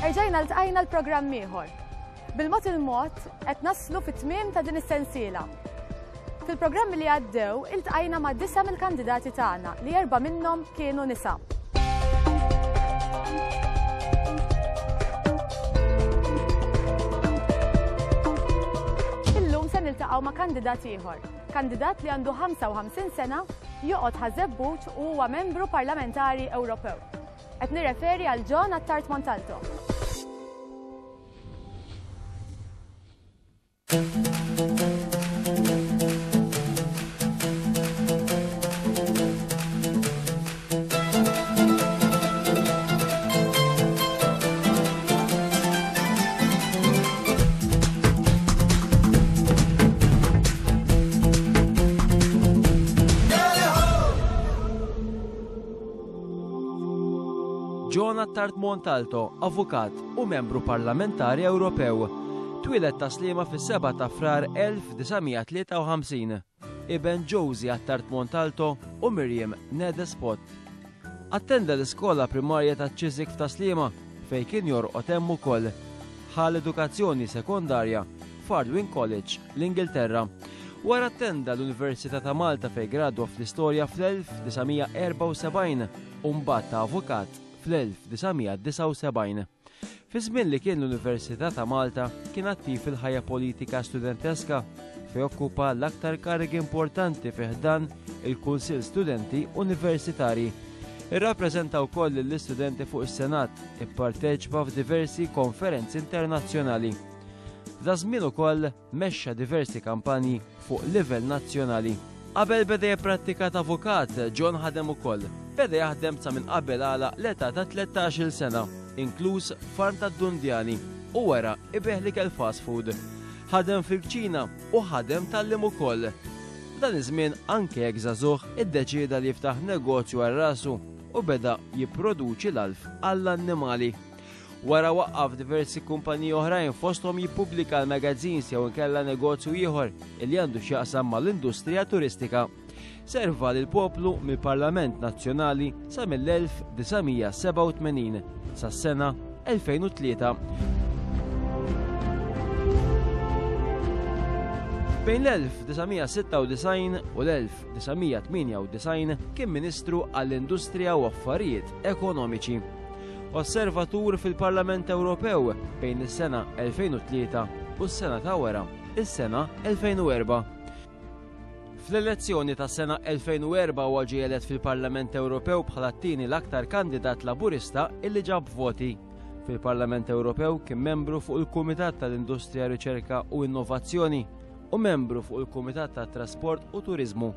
Erġajna ltqajna l-programm ieħor. Bil-mod il-mod qed naslu fit-tmiem ta' din is-sensiela. Fil-programmi li għaddew iltqajna ma' disa mill-kandidati tagħna li erba' minnhom kienu nisa. Illum se niltaqgħu ma' kandidat ieħor, kandidat li għandu 55 sena, joqgħod Ħaż-Żebbuġ u huwa membru parlamentari Ewropew. Qed nirreferi għal John Attard Montalto. John Attard Montalto, avukat u membru parlamentari Ewropew. Twieled ta' Sliema fis-7 ta' Frar 1953. Iben Josie Attard Montalto u Miriam Nedespot. Attenda l-iskola primarja ta' Chiswick f'Tas-Sliema fejn kien jorqod hemm ukoll. Ħa l-edukazzjoni sekondarja f'Ardwin College, l-Ingilterra. Wara attenda l-Università ta' Malta fejn gradwa fl-istorja fl-1974 u mbagħad ta' avukat fl-1979. Fi żmien li kien l-Università ta' Malta kien attiv fil-ħajja politika studenteska fejn okkupa l-aktar karigi importanti fi ħdan il-Kunsill Studenti Universitarji. Irrappreżenta wkoll lill-istudenti fuq is-Senat, ipparteċipa f'diversi konferenzi internazzjonali. F'da żmien ukoll mexxa diversi kampanji fuq livell nazzjonali. Qabel beda jipprattika ta' avukat, John ħadem ukoll. Beda jaħdem sa minn qabel għalaq l-età ta' 13-il sena, inkluż farm tad-dundjani u wara ibigħ l-ikel fast food. Ħadem fil-kċina u ħadem tgħallem ukoll. F'dan iż-żmien anke jekk żagħżugħ iddeċieda li jiftaħ negozju għal rasu u beda jipproduċi l-għalf għall-annimali. Wara waqqaf diversi kumpaniji oħrajn fosthom jippubblika l-magazines jew inkella negozju ieħor li għandu x'jaqsam mal-industrija turistika. Serva lil poplu mill-Parlament Nazzjonali sa mill-1987 sas-sena 2003. Bejn l-1996 u l-1998 kien Ministru għall-Industrija u Affarijiet Ekonomiċi. Osservatur fil-Parlament Ewropew bejn is-sena 2003 u s-sena ta' wara, is-sena 2004. Fl-elezzjoni tas sena 2004 huwa ġie elett fil-Parlament Ewropew bħala t-tieni l-aktar kandidat Laburista illi ġab voti. Fil-Parlament Ewropew kien membru fuq il-Kumitat tal-Industrija, Riċerka u Innovazzjoni u membru fuq il-Kumitat tat-Trasport u Turiżmu,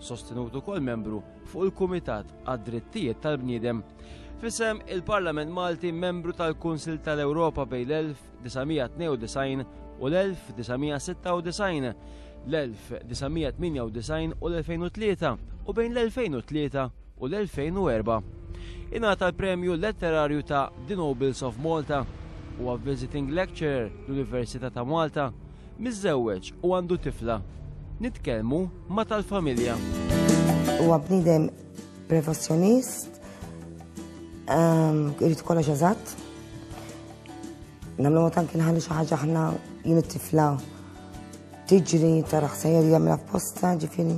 sostenut ukoll membru fuq il-Kumitat għad-Drittijiet tal-Bniedem. Fisem il-Parlament Malti membru tal-Kunsil tal-Ewropa bejn l-1992 u l-1996, l-1998 u l-2003 u bejn l-2003 u l-2004. Ingħata l-premju letterarju ta' The Nobles of Malta. Huwa visiting lecturer l-Università ta' Malta Miżżewweġ u għandu tifla. Nitkellmu ma' tal-familja. Huwa bniedem perfezzjonist, ehm, irid kollox eżatt. Nagħmlu mod anki nħallu xi ħaġa aħna jien it-tifla tiġri tara ħsejjer jagħmilha f'posta, ġifieri.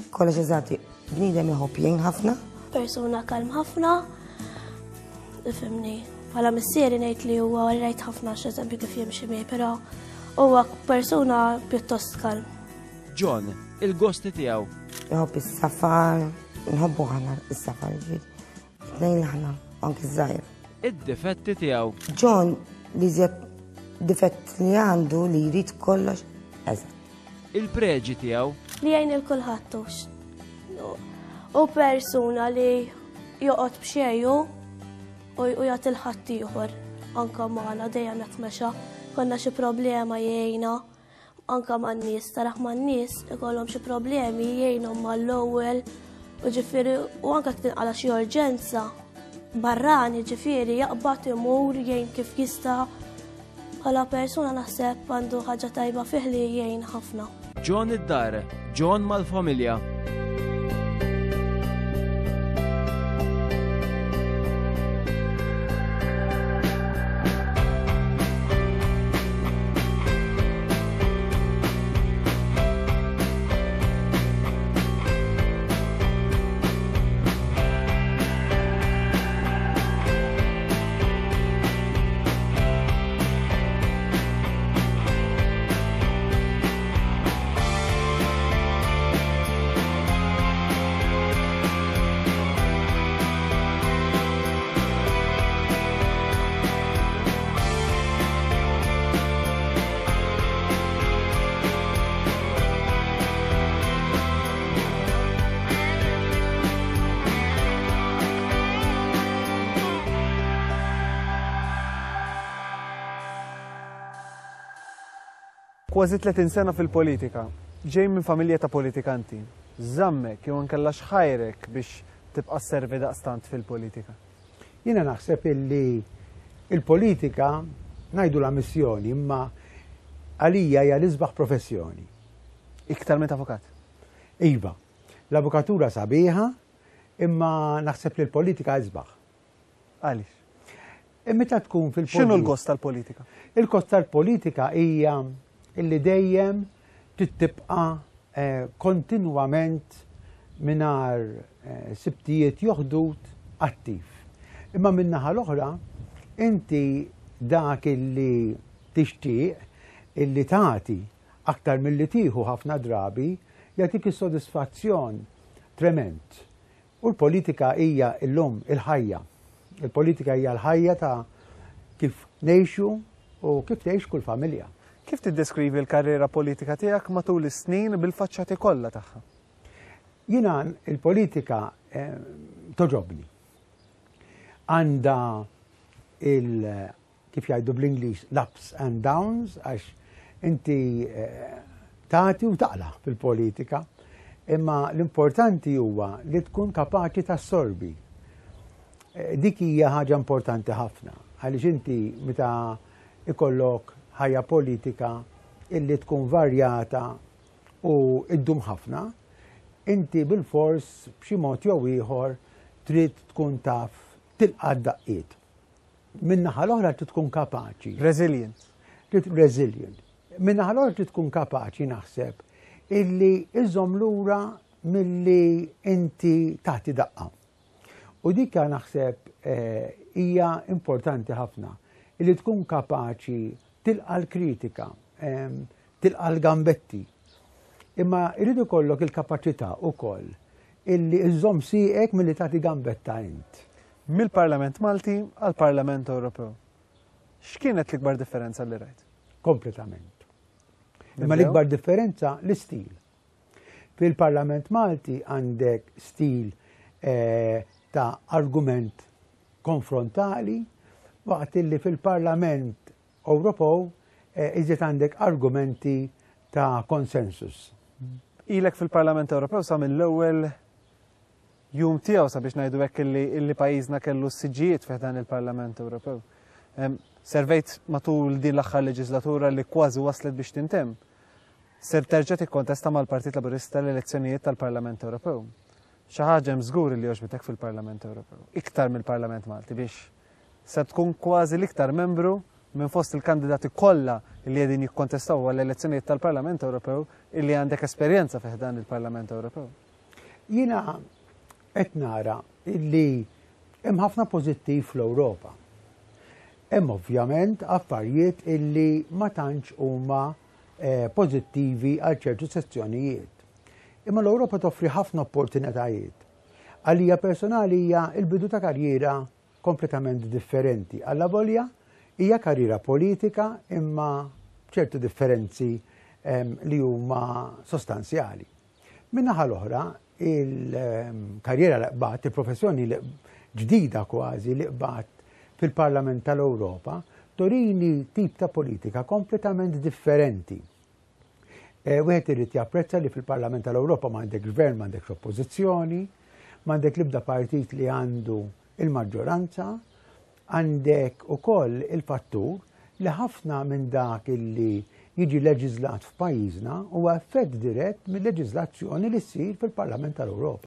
Kollox eżatt, bniedem iħobb jgħin ħafna. Persuna kalm ħafna, ifimni. Bħala missieri ngħid li huwa rajt ħafna x'eżempju kif jimxi miegħi, però huwa persuna pjuttost kalm. John, il-gosti tiegħu. Iħobb is-safar, nħobbu ħana is-safar ġifieri. Tnejn aħna, anki żgħir. Id-difetti tiegħu. John li difett li għandu li jrid kollox eżatt. Il-preġi tiegħu. Li jgħin il kulħadd hux. U persuna li joqgħod b'xejju u jagħti l-ħadd ieħor anka magħna dejjem hekk mexa. Konna xi problema jgħinna anka man-nies, taraħ man-nies ikollhom xi problemi jgħinhom mal-ewwel u ġifieri u anka tinqala xi urġenza barrani ġifieri jaqbad imur jgħin kif jista' Bħala persuna naħseb għandu ħaġa tajba fih li jgħin ħafna. John id-dar, John mal-familja. Kważi 30 sena fil-politika, ġej minn familja ta' politikanti. Żammek jew inkella x'ħajrek biex tibqa' sservi daqstant fil-politika? Jiena naħseb illi il-politika ngħidulha missjoni imma għalija hija l-isbaħ professjoni. Iktar minn avukat? Iva. L-avukatura sabiħa imma naħseb li l-politika isbaħ. Għaliex? E meta tkun fil-politika. X'inhu l-gost tal-politika? Il-gost tal-politika hija illi dejjem trid tibqa' eh, kontinwament mingħajr eh, sibtijiet joħdut attiv. Imma min-naħa l-oħra, inti dak illi tixtieq illi tagħti aktar milli tieħu ħafna drabi jagħtik is-sodisfazzjon trement. U l-politika hija llum il-ħajja. Il-politika hija l-ħajja ta' kif ngħixu u kif tgħix kull familja. Kif tiddeskrivi l-karriera politika tiegħek matul is-snin bil-faċċati kollha tagħha? Jiena l-politika eh, toġobni. Għandha il kif jgħidu bl-Ingliż l-ups and downs għax inti eh, tagħti u taqla fil-politika. Imma l-importanti huwa li tkun kapaċi tassorbi. Eh, dik hija ħaġa importanti ħafna għaliex inti meta ikollok ħajja politika illi tkun varjata u iddum ħafna, inti bil-fors b'xi mod jew ieħor trid tkun taf tilqa' d-daqqiet. Min-naħa l-oħra trid tkun kapaċi. Resilient. Trid resilient. Min-naħa l-oħra trid tkun kapaċi naħseb illi iżomm lura milli inti tagħti daqqa. U dik naħseb eh, hija importanti ħafna illi tkun kapaċi tilqa l-kritika, ehm, tilqa l-gambetti. Imma jrid ikollok il-kapaċità ukoll illi iżomm sieqek milli tagħti gambetta int. Mill-Parlament Malti għall-Parlament Ewropew. X'kienet l-ikbar differenza li rajt? Kompletament. Imma l-ikbar differenza l-istil. Fil-Parlament Malti għandek stil eh, ta' argument konfrontali, waqt li fil-Parlament Ewropew eh, iżjed għandek argumenti ta' konsensus. Ilek fil-Parlament Ewropew sa mill-ewwel jum tiegħu sabiex ngħidu hekk illi, illi pajjiżna kellu s-siġġijiet fih dan il-Parlament Ewropew. Servejt matul din l-aħħar leġislatura li kważi waslet biex tintemm. Ser terġa' tikkontesta mal-Partit Laburista l-elezzjonijiet tal-Parlament Ewropew. Xi ħaġa hemm żgur li għoġbitek fil-Parlament Ewropew, iktar mill-Parlament Malti biex se tkun kważi l-iktar membru minn fost il-kandidati kollha li qegħdin jikkontestaw għall-elezzjonijiet tal-Parlament Ewropew illi għandek esperjenza fih dan il-Parlament Ewropew. Jiena qed nara illi hemm ħafna pożittiv fl-Ewropa. Hemm ovvjament affarijiet illi ma tantx huma eh, pożittivi għal ċertu sezzjonijiet. Imma l-Ewropa toffri ħafna opportunitajiet. Għalija personali hija l-bidu ta' karriera kompletament differenti. Allavolja hija karriera politika imma ċertu differenzi ehm, li huma sostanzjali. Min-naħa l-oħra, il-karriera li qbadt, il-professjoni li ġdida kważi li qbadt fil-Parlament tal-Ewropa, turini tip ta' politika kompletament differenti. Eh, wieħed irid japprezza li fil-Parlament tal-Ewropa m'għandek gvern, m'għandekx oppożizzjoni, m'għandek l-ibda partit li għandu il-maġġoranza, għandek ukoll il-fattur li ħafna minn dak illi jiġi leġiżlat f'pajjiżna huwa effett dirett mill-leġiżlazzjoni li ssir fil-Parlament tal-Ewropa.